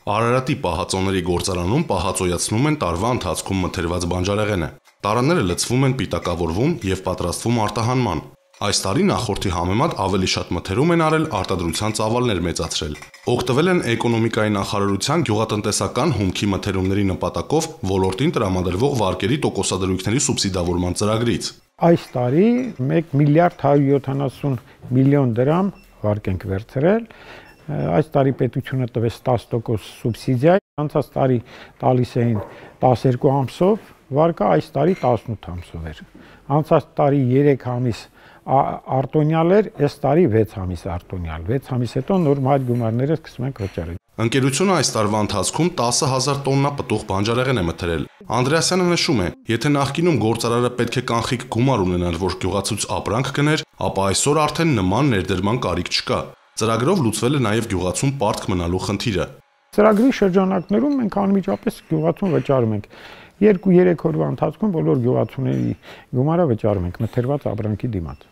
Արարատի պահածոների գործարանում պահածոյացնում են տարվա ընթացքում մթերված բանջարեղենը։ Տարաները լցվում են, պիտակավորվում եւ պատրաստվում արտահանման։ Այս տարի նախորդի համեմատ ավելի շատ մթերում են արել արտադրության ծավալներ մեծացրել։ Օգտվել են էկոնոմիկայի նախարարության գյուղատնտեսական հումքի մթերումների նպատակով ոլորտին տրամադրվող վարկերի տոկոսադրույքների սուբսիդավորման ծրագրից։ Այս տարի 1 միլիարդ 170 միլիոն դրամ վարկ ենք վերցրել։ Այս տարի պետությունը տվեց 10% սուբսիդիա, անցած տարի տալիս էին 12 ամսով, վարկը այս տարի 18 ամսով էր։ Անցած տարի 3 ամիս արտոնյալ էր, այս տարի 6 ամիս արտոնյալ։ 6 ամիս հետո նորմալ գումարները սկսում ենք վճարել։ Ընկերությունը այս տարվա ընթացքում 10,000 տոննա պտուղ բանջարեղեն է մթերել։ Անդրեասյանը նշում է, եթե նախկինում գործարարը պետք է կանխիկ գումար ունենար, որ գյուղացուց ապրանք գներ, ապա այսօր արդեն նման ներդրման կարիք չկա։ Ծրագրով լուծվել է նաև գյուղացուն պարտք մնալու խնդիրը։ Ծրագրի շրջանակներում մենք անմիջապես գյուղացուն վճարում ենք 2-3 օրվա ընթացքում բոլոր գյուղացուների գումարը վճարում ենք մթերված ապրանքի դիմաց։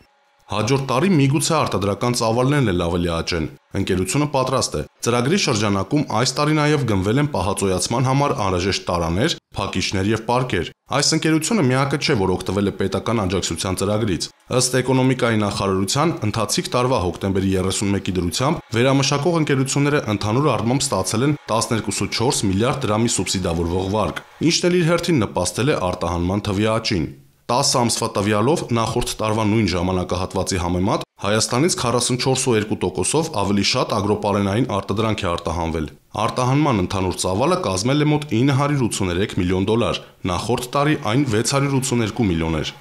Հաջորդ տարի միգուցե արտադրական ծավալներն էլ ավելի աճեն։ Ընկերությունը պատրաստ է։ Ծրագրի շրջանակում այս տարի նաև գնվել են պահածոյացման համար անհրաժեշտ տարաներ, փակիչներ եւ պարկեր։ Այս ընկերությունը միակը չէ, որ օգտվել է պետական աջակցության ծրագրից։ Ըստ էկոնոմիկայի նախարարության, ընթացիկ տարվա հոկտեմբերի 31-ի դրությամբ վերամշակող ընկերությունները ընդհանուր առմամբ ստացել են 12.4 միլիարդ դրամի սուբսիդավորվող վարկ, ինչն էլ իր հերթին նպաստել է արտահանման թվի աճին։ 10 ամսվա տվյալով նախորդ տարվա նույն ժամանակահատվածի համեմատ Հայաստանից 44.2%-ով ավելի շատ ագրոպարենային արտադրանք է արտահանվել։ Արտահանման ընդհանուր ծավալը կազմել է մոտ $983 միլիոն, նախորդ տարի այն $682 միլիոն էր։